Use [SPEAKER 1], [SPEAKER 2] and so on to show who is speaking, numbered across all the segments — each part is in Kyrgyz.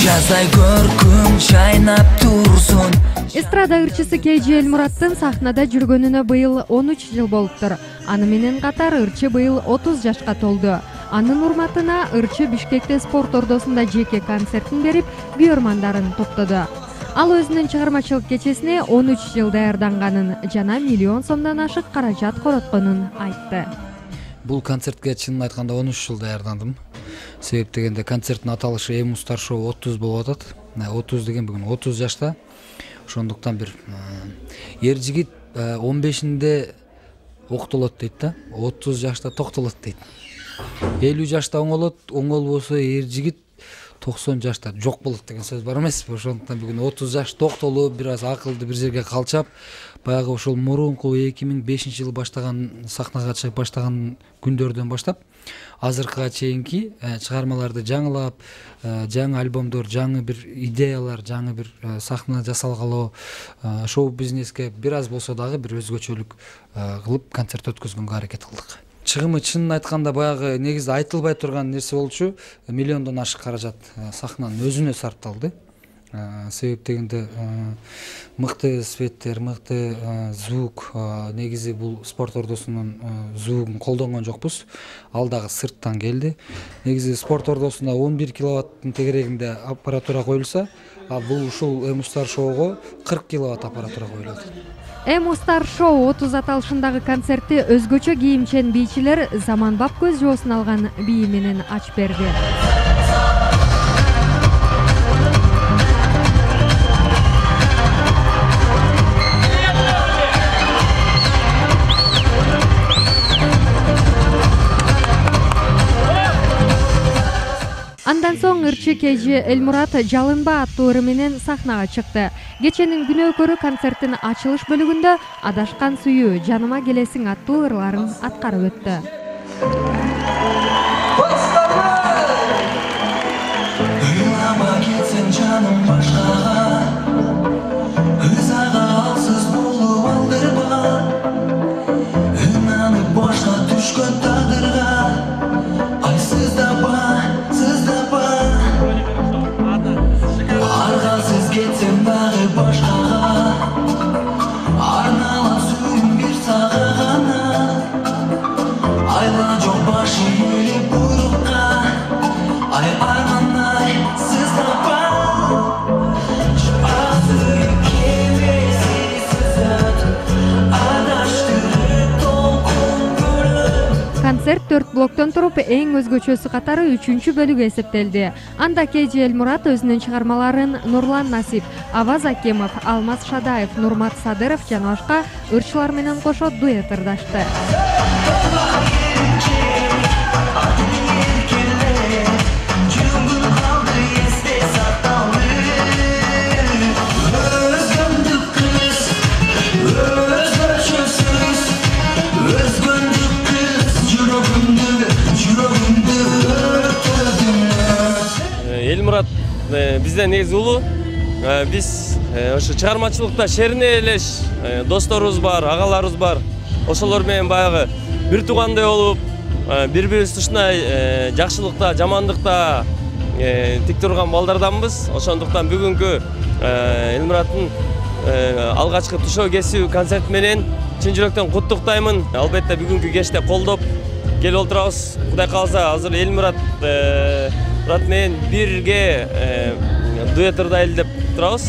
[SPEAKER 1] жаздай көркүм чайнап турсун.
[SPEAKER 2] Эстрада ырчысы KG Элмураттын сахнада жүргөнүнө быйыл 13 жыл болуптур. Аны менен катар ырчы быйыл 30 жашка толду. Анын урматына ырчы Бишкекте спорт ордосунда жеке концертин берип, күйөрмандарын топтоду. Ал өзүнүн чыгармачылык кечесине 13 жыл даярданганын жана миллион сомдон ашык каражат коротконун айтты.
[SPEAKER 3] Бул концертке чынын айтканда 13 жыл даярдандым. Себеп дегенде концерттин аталышы Эмустар шоу 30 болуп атат. 30 деген бүгүн 30 жашта. Ошондуктан бир эр жигит 15-инде октолот дейт да, 30 жашта токтолот дейт. 50 жашта оңолбосо эр жигит 90 жашта жок болот деген сөз бар эмеспи? Ошондуктан бүгүн 30 жаш токтолуп, бир аз акылды бир жерге калчап, баягы ошол мурунку 2005-жылы баштаган сахнага чыгып баштаган күндөрдөн баштап азыркыга чейинки чыгармаларды жаңылап, жаңы альбомдор, жаңы бир идеялар, жаңы бир сахна жасалгалы, шоу-бизнеске бир аз болсо дагы бир өзгөчөлүк кылып концерт өткөзгөнгө аракет кылдык. Чыгымы чынын айтканда баягы негизде айтылбай турган нерсе болчу, миллиондон ашык каражат сахнанын өзүнө сарпталды. Себеп дегенде мыкты светтер, мыкты звук, негизи бул спорт ордосунун звугун колдонгон жокпуз. Ал дагы сырттан келди. Негизи спорт ордосунда 11 киловаттын тегерегинде аппаратура коюлса, а бул ушул Эмустар шоуго 40 киловатт аппаратура коюлат.
[SPEAKER 2] Эмустар шоу 30 аталышындагы концертти өзгөчө кийимчен бийчилер заманбап көз жоосун алган бии менен ачып берди. Андан соң ырчы KG Элмурат жалынба аттуу ыры менен сахнага чыкты. Кеченин күнөөкөрү концерттин ачылыш бөлүгүндө адашкан сүйүү, жаныма келесиң аттуу ырларын аткарып өттү. Концерт 4 блоктон туруп, эң өзгөчөсү катары 3-чү бөлүгү эсептелди. Анда KG Элмурат өзүнүн чыгармаларын Нурлан Насип, Аваз Акемов, Алмаз Шадаев, Нурмат Садыров жана башка ырчылар менен кошо дуэт ырдашты.
[SPEAKER 4] Элмурат бизден негизи улуу. Биз ошо чыгармачылыкта шерине элеш досторубуз бар, агаларыбыз бар. Ошолор менен баягы бир туугандай болуп, бири-бирибизди ушундай жакшылыкта, жамандыкта тик турган балдарданбыз. Ошондуктан бүгүнкү Элмураттын алгачкы тушоо кесүү концерт менен чын жүрөктөн куттуктаймын. Албетте бүгүнкү кечте колдоп келип отурабыз. Кудай кааласа азыр Элмурат менен бирге дуэт ырдайлы деп турабыз.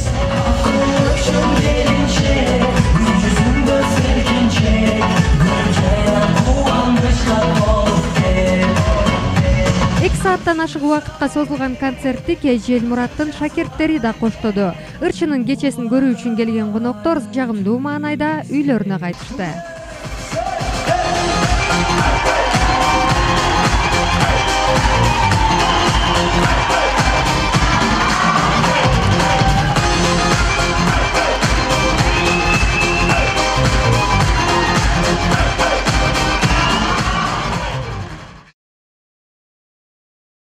[SPEAKER 2] Эки сааттан ашык убакытка созулган концертти KG Элмураттын шакирттери да коштоду. Ырчынын кечесин көрүү үчүн келген коноктор жагымдуу маанайда үйлөрүнө кайтышты.